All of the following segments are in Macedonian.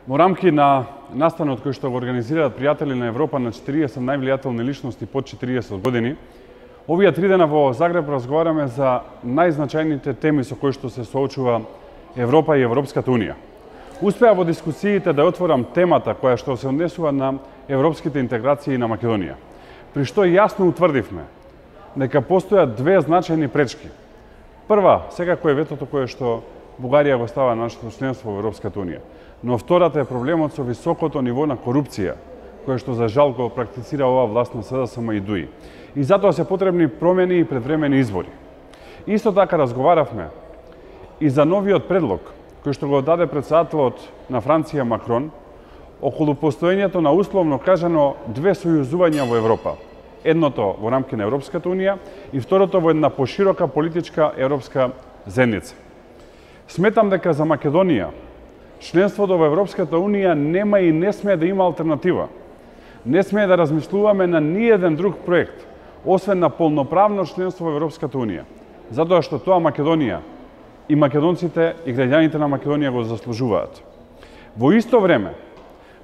Во рамки на настанот кој што го организираат пријатели на Европа на 40 највлијателни личности под 40 години, овие 3 дена во Загреб разговараме за најзначајните теми со кои што се соочува Европа и Европската Унија. Успеа во дискусиите да отворам темата која што се однесува на европските интеграции на Македонија, при што јасно утврдивме дека постојат две значајни пречки. Прва, секако е ветото кое што Бугарија го става нашето членство во Европската Унија. Но втората е проблемот со високото ниво на корупција, кое што за жал го практицира оваа власт на СДСМ и ДУИ. И затоа се потребни промени и предвремени избори. Исто така разговаравме и за новиот предлог, кој што го даде претседателот на Франција Макрон, околу постоењето на условно кажано две сојузувања во Европа. Едното во рамки на Европската Унија и второто во една поширока политичка европска заедница. Сметам дека за Македонија членството во Европската Унија нема и не смее да има алтернатива. Не смее да размислуваме на ниеден друг проект, освен на полноправно членство во Европската Унија, затоа што тоа Македонија и македонците и граѓаните на Македонија го заслужуваат. Во исто време,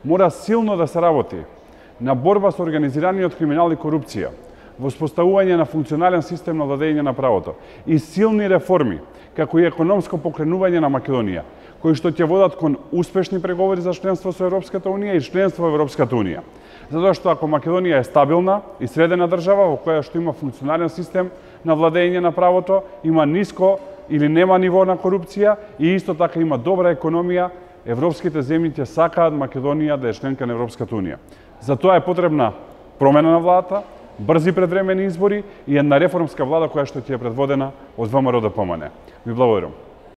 мора силно да се работи на борба со организираниот криминал и корупција, во воспоставување на функционален систем на владење на правото и силни реформи, како и економско покренување на Македонија, кои што ќе водат кон успешни преговори за членство со Европската Унија и членство во Европската Унија. Затоа што ако Македонија е стабилна и средена држава во која што има функционален систем на владење на правото, има ниско или нема ниво на корупција и исто така има добра економија, европските земји ќе сакаат Македонија да е членка на Европската Унија. Затоа е потребна промена на владата, брзи предвремени избори и една реформска влада која што ќе е предводена од ВМРО ДПМН. Ви благодарам.